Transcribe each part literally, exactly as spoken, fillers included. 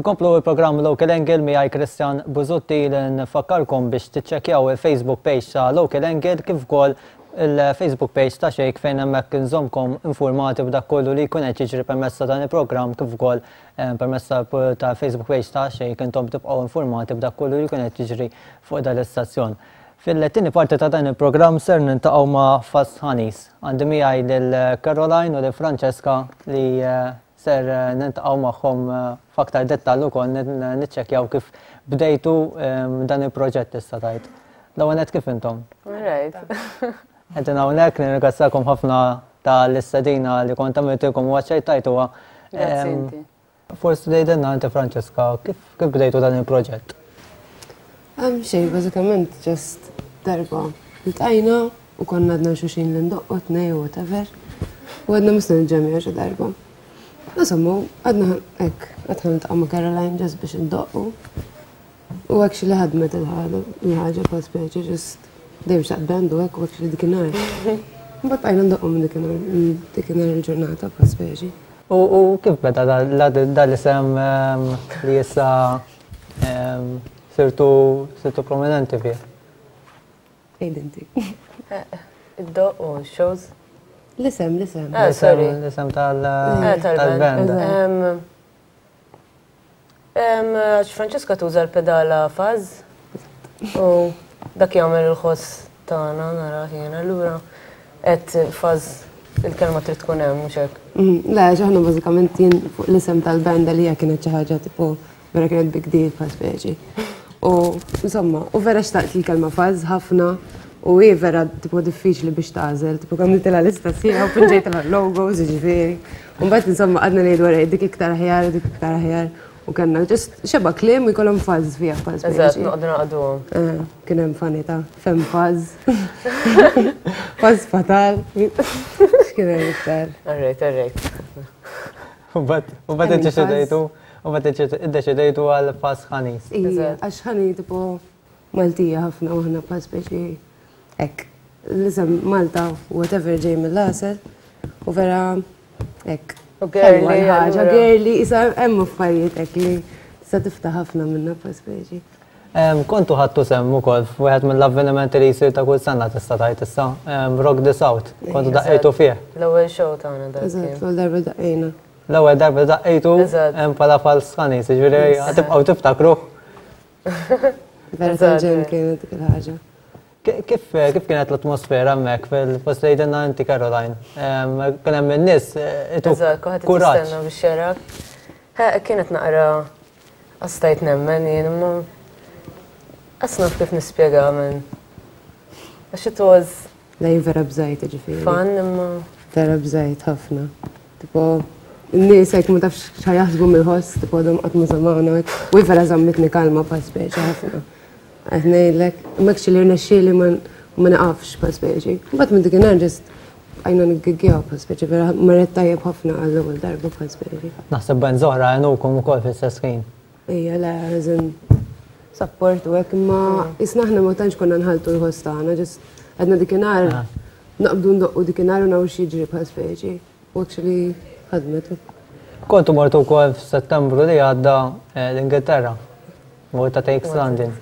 Nkomplu il-programm Local Angle miegħi Christian Buzutti, li nfakkarkom biex tiċċekkjaw il-Facebook page ta' Local Angle kif ukoll il-Facebook page ta' Xejk, fejn hemmhekk nżommkom informati b'dak kollu li jkun qed jiġri permezz ta' dan il-programm, kif ukoll eh, permezz ta' Facebook page ta' Xejk intom tibqgħu informati b'dak kollu li jkun qed jiġri fuq dan l-istazzjon. Fil-tieni parti ta' dan il-programm ser niltaqgħu ma' Fuzz Honeys. Għandi miegħi lil Caroline u lil Francesca li eh, ser eh, niltaqgħu magħhom eh, f'aktar dettall ukoll niċċekkjaw kif bdejtu dan il-proġett issa tajt. L-ewwel kif intom? Right. Qegħdin hawnhekk, nirringrazzjakom ħafna tal-istedina li kont għamiltilkom u aċċettajtuha. Forsi tgħidilna inti, Francesca, kif kif bdejtu dan il-proġett? Xejn, bażikament just darba iltqajna u konna għadna xulxin li ndoqqu tnejn u whatever. U għedna missna nġemgħu xi darba. Insomma, għedna hekk, għedna niltaqgħu ma' Caroline just biex ndoqqu. U actually ħadmet il-ħaġa pa' speċi, just dejjem xtaqt band u hekk u actually dikinhar. Mbagħad bqajna ndoqqu minn dikinhar il-ġurnata pa' speċi. U kif beda dal-isem li issa sirtu sirtu prominenti fih? Għid inti. Id-doq u shows. L-isem, l-isem. Ah, sorry. L-isem tal-band. Għax Francesca tuża l-pedala fuzz u dak jagħmel il-ħoss tagħna nara jiena, allura qed fuzz il-kelma trid tkun hemm, mhux hekk? Mhm, le, aħna bażikament jien fuq l-isem tal-banda li hija kienet xi ħaġa tipo vera kienet big deal pa' speċi. U insomma, u vera xtaqt il-kelma fuzz ħafna u hi vera tipo diffiċli biex tagħżel, tipo għamiltilha lista sħiħa u pinġejtilha logos, ġifieri. U mbagħad insomma għadna ngħidu wara dik iktar aħjar, dik iktar aħjar. U kellna just xeba kliem u jkollhom fuzz fiha fuzz. Eżatt, noqogħdu naqduhom. Eh, kien hemm funny ta' fem fuzz. Fuzz fatal. X'kien hemm iktar? Alright, alright. U mbagħad iddeċidejtu, u mbagħad iddeċidejtu għal Fuzz Honeys. Ija, għax honey tipo Maltija ħafna u aħna pa speċi hekk. L-isem Malta, whatever, ġej mill-għasel u vera hekk. U girly, ħaġa allura. Girly, isa hemm affarijiet hekk li sa tiftaħ ħafna minna pa speċi. Em, Kontu ħadtu sehem ukoll f'wieħed mill-avvenimenti li jsir ta' kull sena, tista' tgħid issa, em, Rock the South. Kontu daqqejtu fih. L-ewwel show tagħna dak Eżatt, kien. l-ewwel darba daqqejna. L-ewwel darba daqqejtu Eżatt. em, bħala Fuzz Honeys, jiġifieri tibqgħu tiftakruh. Vera Eżatt, tal-ġenn eh. kienet dik il-ħaġa. Ki- Kif kif kienet l-atmosfera hemmhekk fil-post li għidilna inti, Caroline? Em, Kien hemm in-nies eh, ituk Eżatt, kulħadd kuraġġ. jistenna biex jarak. Ha, kienet naqra qastajt nemmen jien, imma qas naf kif nispjega minn. Għax it was Le, jien vera bżajt, ġifieri. fun, imma Vera bżajt ħafna. Tipo, n-nies hekk ma tafx x'ħa jaħsbu mill-ħoss, tipo għadhom qatt ma semgħuna hekk. U hi vera żammitni kalma pa speċi ħafna. Qed ngħidlek, imma actually rnexxieli ma ma naqafx pa speċi. Mbagħad minn dikinhar just għajna niggiggjaw pa speċi, vera marret tajjeb ħafna għall-ewwel darba pa speċi. Naħseb bands oħra għenukom ukoll fl-istess ħin. Ija, le, as in support u hekk, imma isna aħna ma tantx konna nħaltu l-ħoss tagħna, just għedna dikinhar Ah. naqbdu ndoqqu dikinhar u naraw x'jiġri pa speċi. U actually ħadmet. Kontu mortu wkoll f'Settembru li għadda eh, l-Ingilterra. Malta Takes London.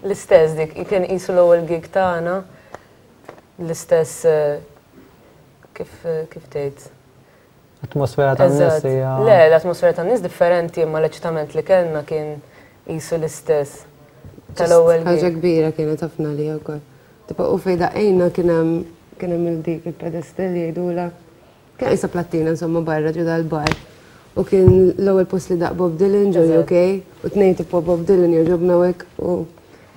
L-istess dik, kien qisu l-ewwel gig tagħna. L-istess eh, kif kif tgħid? Atmosfera tan-nies Eżatt. hija. Le, l-atmosfera tan-nies differenti, imma l-eċitament li kellna kien qisu l-istess tal-ewwel Ħaġa gig. kbira kienet ħafna li wkoll. Tipo u fejn daqqejna kien hemm kien hemm il-dik il-pedestal jgħidula. Kien isa plattina insomma barra ġo dal-bar. U kien l-ewwel post li daqq Bob Dylan ġo Eżatt. U K u tnejn tipo Bob Dylan jogħġobna u hekk u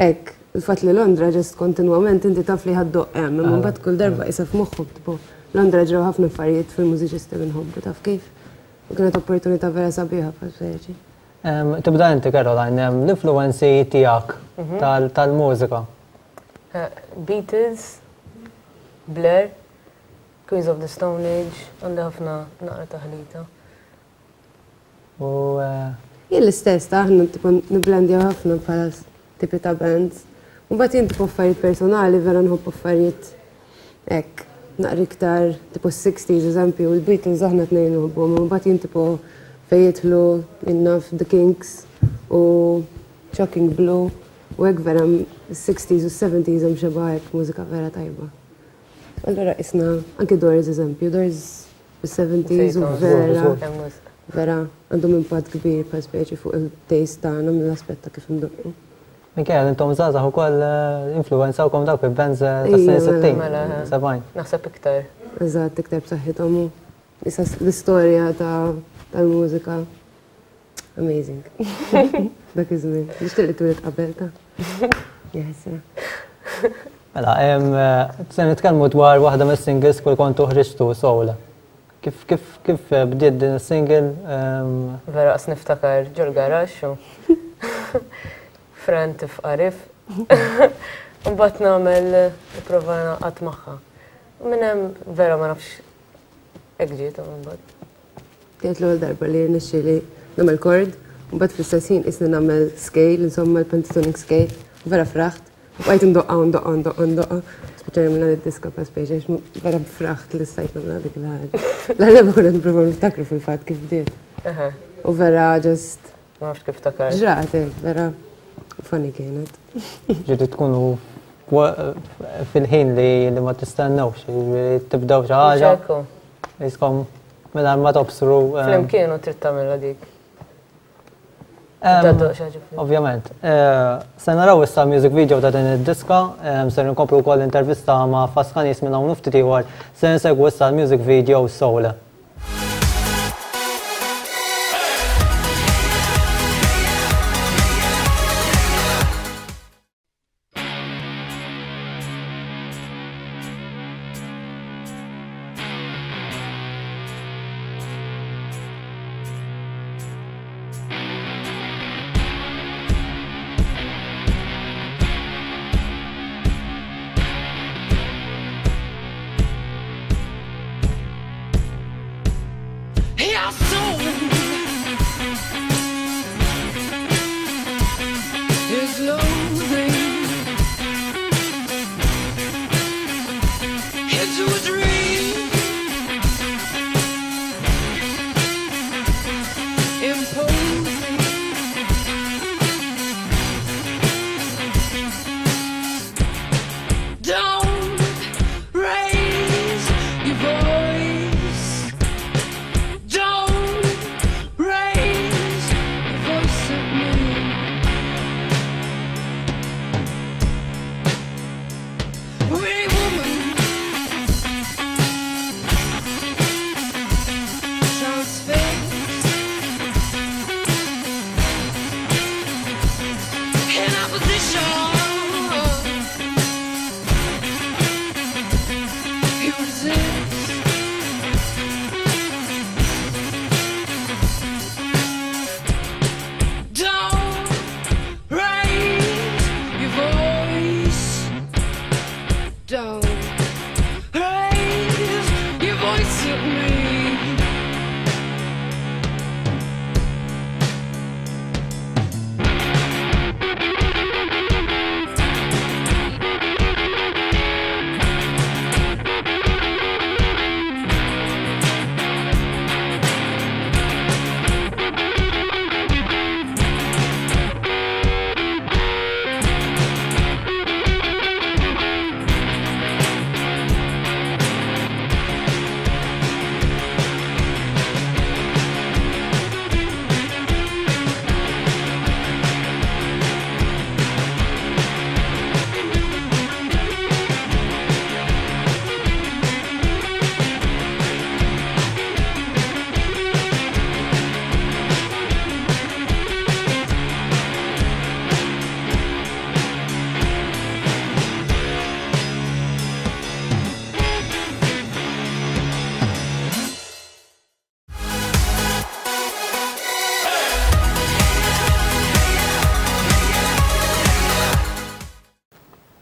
hekk. Il-fatt li Londra just kontinwament inti taf li ħa ddoqq hemm, imma mbagħad kull darba isa f'moħħok tipo Londra ġraw ħafna affarijiet fil-mużiċisti li nħobbu, taf kif. U kienet opportunità vera sabiħa bħal speċi. Em, Tibda inti, Caroline, em, l-influenzi tiegħek tal- tal-mużika. Eh, Beatles, Blur, Queens of the Stone Age, għandi ħafna naqra taħlita. U eh, Jien l-istess, ta' aħna tipo niblendjaw ħafna bħala tipi ta' bands. U mbagħad jien tipo affarijiet personali vera nħobb affarijiet hekk naqra iktar tipo sixties eżempju, u l-Beatles aħna tnejn nħobbuhom, u mbagħad jien tipo Fejn jidħlu jien naf The Kinks u Shocking Blue u hekk vera sixties u seventies hemm xeba hekk mużika vera tajba. Allura isna anke Doors eżempju, Doors fis-seventies u vera vera għandhom impatt kbir pa speċi fuq il-taste tagħna mill-aspett ta' kif indoqqu. Minkejja li intom żgħażagħ ukoll influwenzawkom dawk il-bands tas-snin sittin, sebgħin. Naħseb iktar. Eżatt, iktar b'saħħithom u issa l-istorja tal-mużika. Amazing. Dak iż-żmien. Nixtieq li twieled qabel ta' jaħsra. Mela, se nitkellmu dwar waħda mis-singles kull kontu ħriġtu Soul. Kif kif kif bdiet din is-single? Vera qas niftakar ġol garaxx u Fran tifqarif. Mbagħad nagħmel nipprova naqgħad magħha. Minn hemm vera ma nafx hekk ġiet imbagħad. Kienet l-ewwel darba li rnexxieli nagħmel chord, u mbagħad fl-istess ħin qisni nagħmel scale, insomma l-pentatonic scale, u vera fraħt. U bqajt indoqqa u ndoqqa u ndoqqa u ndoqqa. Speċjalment minn id-diska pa speċi, għax vera fraħt li stajt nagħmel dik il-ħaġa. L-għaleba konna nipprovaw niftakru fil-fatt kif bdiet. U vera just. Ma nafx kif takar. Ġrat, vera funny kienet. Ġieli tkunu fil-ħin li ma tistennewx, tibdew xi ħaġa. Jiskom mingħajr ma tobsru. Flimkien u trid tagħmilha dik. Ovvjament. Se naraw issa music video ta' din id-diska, se nkomplu wkoll intervista ma' Faskanis minn hawn ftit ieħor, se nsegwu issa l-music video Soul.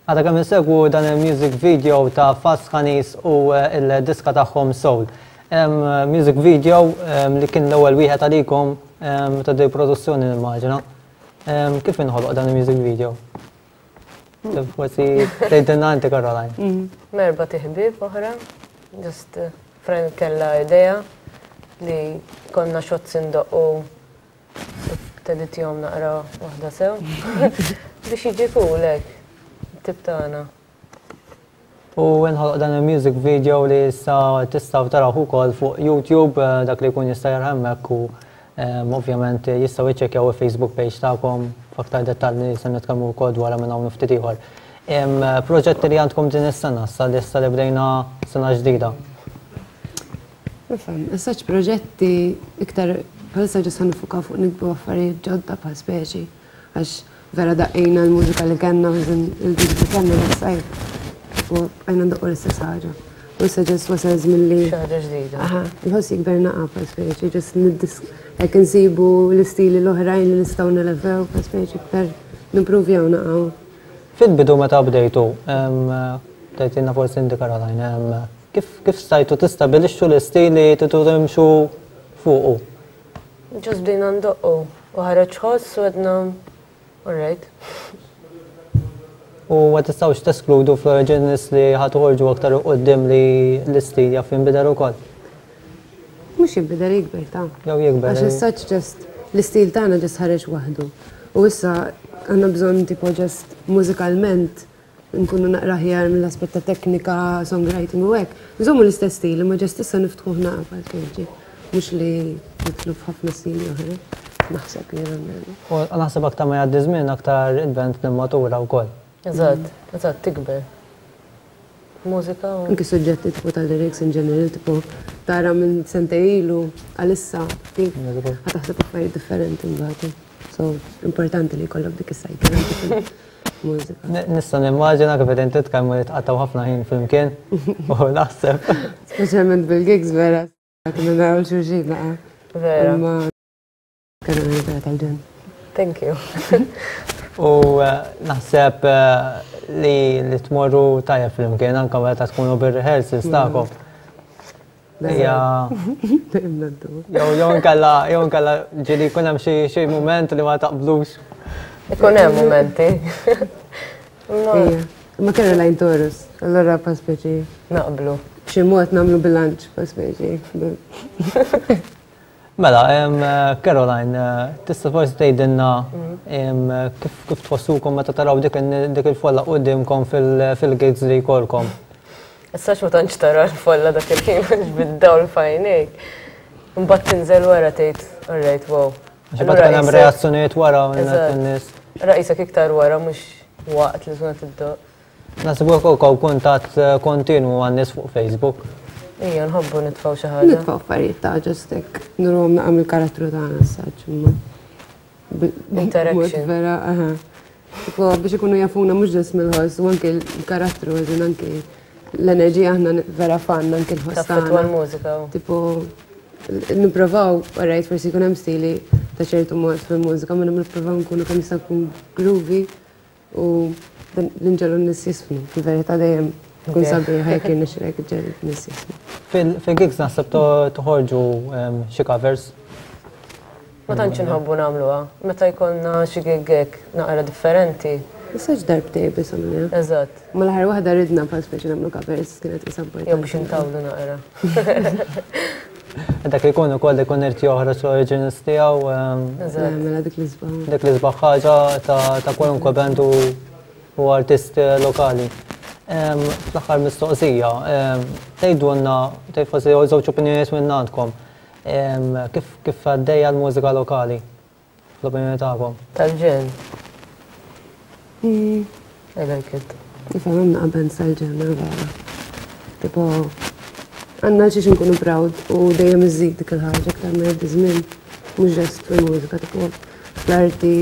Għada kemm insegwu dan il-music video ta' Faskanis u il-diska tagħhom Soul. Music video li kien l-ewwel wieħed għalikom ta' di produzzjoni nimmaġina. Kif inħoloq dan il-music video? Forsi tgħidilna inti Caroline. Merba tiħbib oħra, just friend kella idea Li konna shots indoqqu teditjom naqra waħda sew. Biex jiġi cool hekk, tip tagħna. U nħoloq dan il-music video li issa tistgħu taraw ukoll fuq YouTube, eh, dak li jkun jista' jara hemmhekk u em, ovvjament jistgħu jiċċekkjaw il-Facebook page tagħkom f'aktar dettalji se nitkellmu wkoll dwar minn hawn ftit ieħor. Em, Proġetti li għandkom din is-sena, sa li issa li bdejna sena ġdida. Nifhem, issa proġetti iktar bħalissa ġis niffukaw fuq niktbu affarijiet ġodda bħal speċi, għax vera daqqejna l-mużika li kellna, il-dik li kellna l-sajf, u għajna ndoqqu l-istess ħaġa. U issa ġis wasal żmien li. Xi ħaġa ġdida. Aha, il-ħoss jikber naqa bħal speċi, ġis niddis hekk insibu l-istili l-oħrajn li nistgħu nelevew bħal speċi iktar nimprovjaw naqgħu. Fil-bidu meta bdejtu, em, tgħidilna forsi inti Caroline, em, kif kif stajtu tistabilixxu l-istil li tridu timxu fuqu? Ġus bdejna ndoqqu u ħareġ ħoss u għedna alright. U ma tistgħux teskludu fl-originals li ħa toħorġu aktar quddiem li l-istil jaf jinbidel ukoll. Mhux jinbidel, jikber ta' Jew jikber. Għax issa just l-istil tagħna just ħareġ waħdu. U issa għandna bżonn tipo just mużikalment nkunu naqra ħjar mill-aspett ta' teknika, songwriting u hekk. Nżommu l-istess stil, imma just issa niftħuh naqra bħal speċi. Mhux li nidħlu f'ħafna stili oħra. Naħseb jiena almenu. U naħseb aktar ma jgħaddi żmien aktar il-band nimmatura wkoll. Eżatt, eżatt, tikber. Mużika u. Anki suġġetti tipo tal-lyrics in general, tipo tara minn sentejn ilu għalissa, kif ħa taħseb affarijiet differenti mbagħad. So, importanti li jkollok dik is-cycle anki fil-mużika. N- Nista' nimmaġina kif qegħdin titkellmu li tqattgħu ħafna ħin flimkien u naħseb. Speċjalment bil-gigs vera, kienu naraw xulxin naqa. Vera. Imma kienu vera tal-ġenn. Thank you. U eh, naħseb eh, li li tmorru tajjeb flimkien anke meta tkunu bir-rehearsals tagħkom. Hija Dejjem ngħaddu. jew jew inkella jew inkella ġieli jkun hemm xi xi mument li ma taqblux. Ikun hemm momenti. Imma Ija. Imma Caroline Taurus, allora pa speċi naqblu. b'xi mod nagħmlu bilanċ pa speċi. Mela, em, eh, Caroline, eh, tista' forsi tgħidilna em, kif kif tħossukom meta taraw dik in- dik il-folla quddiemkom fil- fil-gigs li jkollkom. Issa ma tantx tara l-folla dak il-ħin għax bid-dawl f'għajnejk. Mbagħad tinżel wara tgħid, alright, wow. Għax imbagħad kien hemm reazzjonijiet wara minn Eżatt. in-nies. Raqisek iktar wara mhux waqt li tkun qed iddoqq. Naħseb ukoll kuntatt eh, kontinwu għan-nies fuq Facebook. Ija, nħobbu nitfgħu xi ħaġa. Nitfgħu affarijiet ta' just hekk nurhom naqam il-karattru tagħna s-saġ imma. B- Interaction. mod Vera, aha. Tipo biex ikunu jafuna mhux just mill-ħoss u anke l-karattru, eżin anke l-enerġija aħna vera fan anke l-ħoss Taffetwa tagħna. l-mużika. u- Tipo, nipprovaw, alright, forsi jkun hemm stili ta' ċertu mod fil-mużika, ma nipprovaw nkunu kemm jista' jkun groovy u dan l-inġelu n-nies jiżfnu. Fil-verità dejjem kun Okay. sabiħ jekk jirnexxilek iġġegħel n-nies jiżfnu. Fil- Fil-gigs naħseb to- toħorġu em, xi covers. Ma tantx inħobbu nagħmluha. Meta jkollna xi gig hekk naqra differenti. Issa darbtej biss għamilna. Eżatt. Ma l-aħħar waħda ridna bħal speċi nagħmlu covers, kienet isa importanti. Jew biex intawlu naqra. Dak li jkun ukoll ikun irid joħroġ l-originals tiegħu em, Eżatt. Mela dik l-isbaħ. dik l-isbaħ ħaġa ta' ta' kwalunkwe band u u artist eh, lokali. Em, Fl-aħħar mistoqsija, em, tgħidulna, tgħid forsi żewġ opinjonijiet minn għandkom. Em, Kif kif għaddejja l-mużika lokali? Fl-opinjoni tagħkom. Tal-ġenn. Mm. I like it. Nifhem hemm naqa band tal-ġenna vera. Tipo, għandna xiex nkunu proud u dejjem iżid dik il-ħaġa aktar ma jgħaddi żmien, mhux just fil-mużika, tipo fl-arti,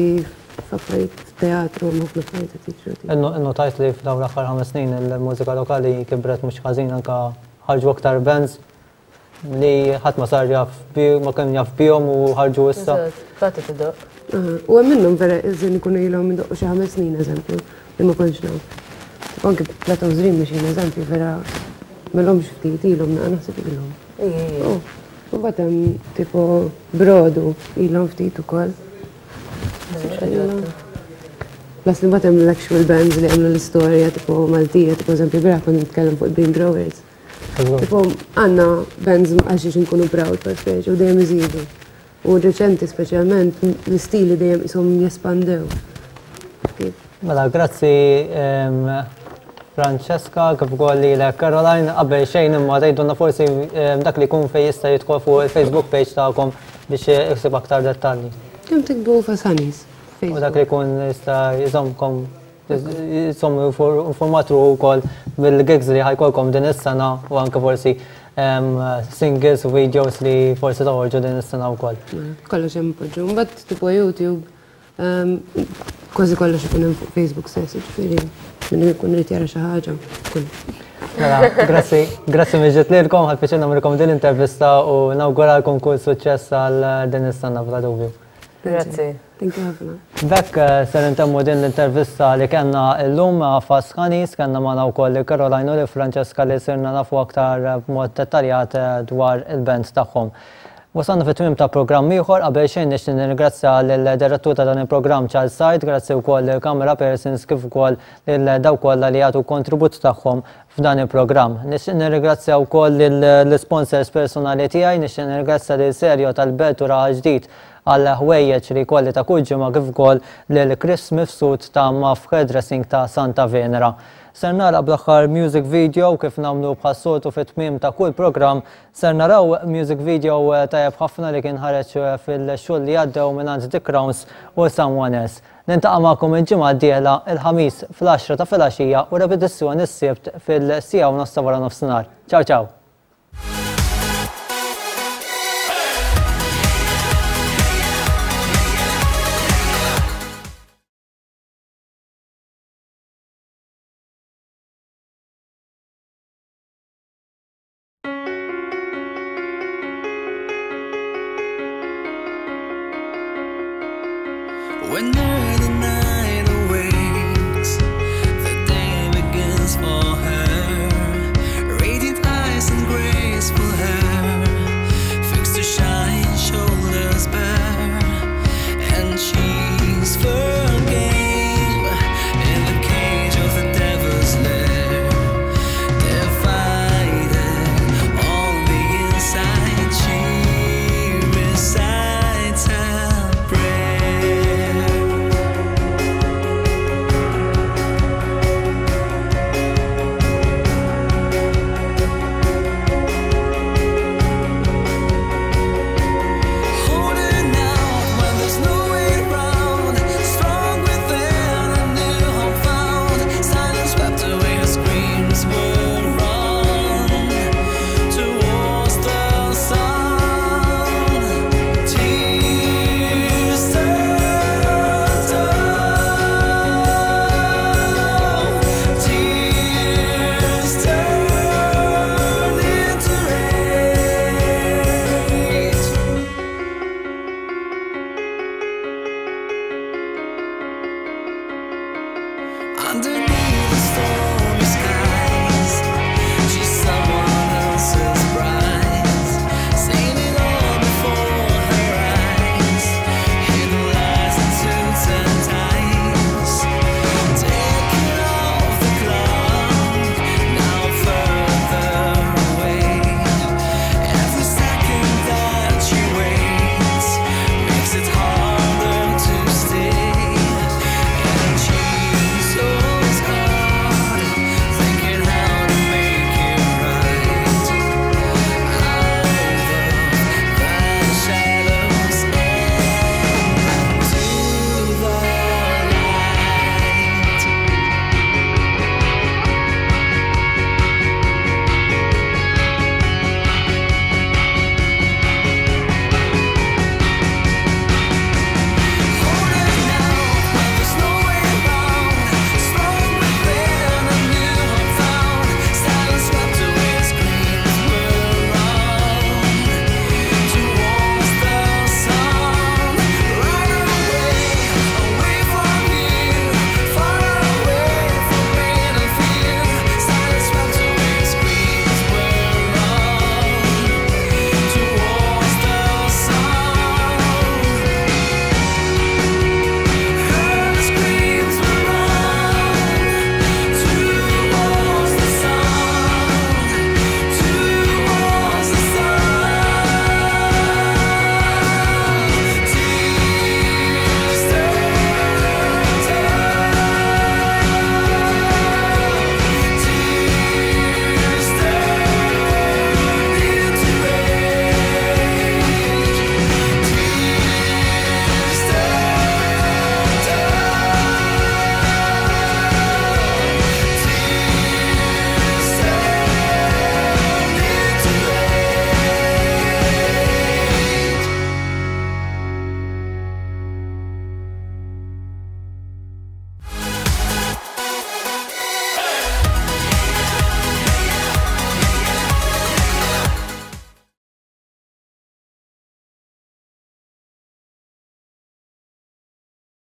f'affarijiet teatru, ħafna affarijiet qed jiġru. tipo. Innu innotajt li f'dawn l-aħħar ħames snin il-mużika lokali kibret mhux ħażin, anka ħarġu aktar bands li ħadd ma sar jaf bi ma kien jaf bihom u ħarġu issa. Eżatt. Kati tiddoq. Aha, u hemm minnhom vera iżin ikunu ilhom idoqqu xi ħames snin eżempju, li ma kontx naf. Tipo anke Plato's Dream Machine eżempju vera m'ilhomx ftit ilhom naqa naħseb ilhom. Ija, ija. Oh, U mbagħad hemm tipo Brodu ilhom ftit ukoll. Plus li mbagħad hemm l-actual bands li għamlu l-istorja tipo Maltija, tipo eżempju bieraħ kont nitkellem fuq Bean Growers. Tipo, għandna bands għal xiex nkunu proud per speċi u dejjem iżidu. U reċenti speċjalment l-istili dejjem isom jespandew. Kif? Mela, grazzi em, Francesca, kif ukoll lilek Caroline, qabel xejn imma tgħidulna forsi em, dak li jkun fejn jista' jidħol fuq il-Facebook page tagħkom biex isib aktar dettalji. Kemm tiktbu Fuzz Honeys? U dak li jkun jista' jżommkom jżomm informat ukoll bil-gigs li ħa jkollkom din is-sena u anke forsi em, singles u videos li forsi toħorġu din is-sena wkoll. Kollox hemm poġġu. Mbagħad tipo YouTube, ehm, kważi kollox ikun hemm fuq Facebook stess, ġifieri min ikun irid jara xi ħaġa. Kull. Mela, grazzi, grazzi mill-ġdid lilkom, ħadt pjaċir nagħmlilkom din l-intervista u nawguralkom kull suċċess għal din is-sena bla dubju. Grazzi. Thank you ħafna. B'hekk eh, ser intemmu din l-intervista li kellna llum ma' Fuzz Honeys, kellna magħna wkoll Caroline u li Francesca li sirna nafu aktar eh, b'mod dettaljat eh, dwar il-band tagħhom. Wasalna fit tmim ta' programm ieħor, qabel xejn nixtieq nirringrazzja lill-direttur ta' dan il-programm Charles Said, grazzi wkoll il-camera persons kif ukoll lil dawk kollha li jagħtu kontribut tagħhom f'dan il-programm. Nixtieq nirringrazzja wkoll lill-sponsors personali tiegħi, nixtieq nirringrazzja lil Serjo tal-Belt u Raħal Ġdid għal ħwejjeġ li kolli ta' kull ġimgħa kif ukoll lil Chris Mifsud ta' Maf Hairdressing ta' Santa Venera. Ser nara bl-aħħar music video kif nagħmlu bħas-soltu fit-tmiem ta' kull programm, ser naraw music video eh, tajjeb ħafna li kien ħareġ eh, fil-xhur li għaddew mingħand The Crowns u Someone Else. Niltaqa' magħkom il-ġimgħa d-dieħla il-ħamis fl-għaxra ta' filgħaxija u repetizzjoni s-sibt fil-siegħa u nofs ta' wara nofsinhar. Ciao ciao! When early night awakes, the day begins for her. Radiant eyes and graceful hair.